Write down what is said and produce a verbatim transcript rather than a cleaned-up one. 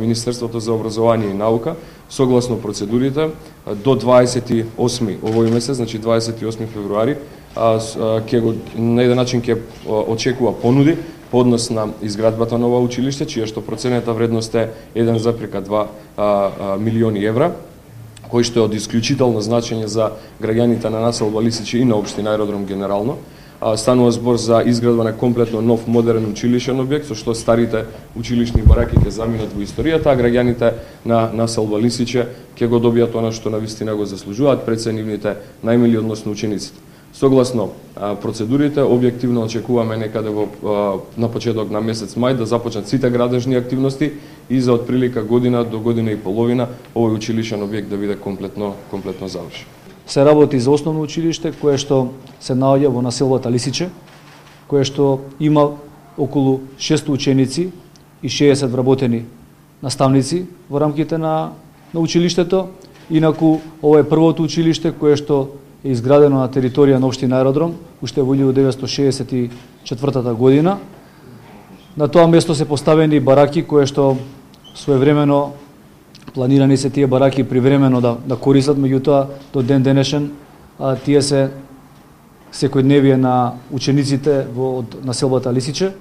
Министерството за образование и наука, согласно процедурите, до дваесет и осми овој месец, значи дваесет и осми февруари, ќе го на еден начин ќе очекува понуди по однос на изградбата на ова училиште, чија што проценета вредност е еден запирка два милиони евра, кој што е од исклучително значење за граѓаните на населба Лисиче и на општина Аеродром генерално. Станува збор за изградба на комплетно нов модерен училишен објект, со што старите училишни бараки ќе заминат во историјата, а граѓаните на населба Лисиче ќе го добијат она што навистина го заслужуваат пред се нивните најмили, односно учениците. Согласно процедурите, објективно очекуваме некаде во на почеток на месец мај да започнат сите градежни активности и за отприлика година до година и половина овој училишен објект да биде комплетно комплетно завршен. Се работи за основно училиште кое што се наоѓа во населбата Лисиче, кое што има околу шест ученици и шеесет вработени наставници во рамките на на училиштето. Инаку ова е првото училиште кое што е изградено на територија на општина Аеродром уште во илјадесетстотини деветстотини шеесет и четвртата година. На тоа место се поставени бараки кои што своевремено планирани се тие бараки привремено да да користат, меѓутоа до ден денешен а, тие се секојдневие на учениците во од населбата Лисиче.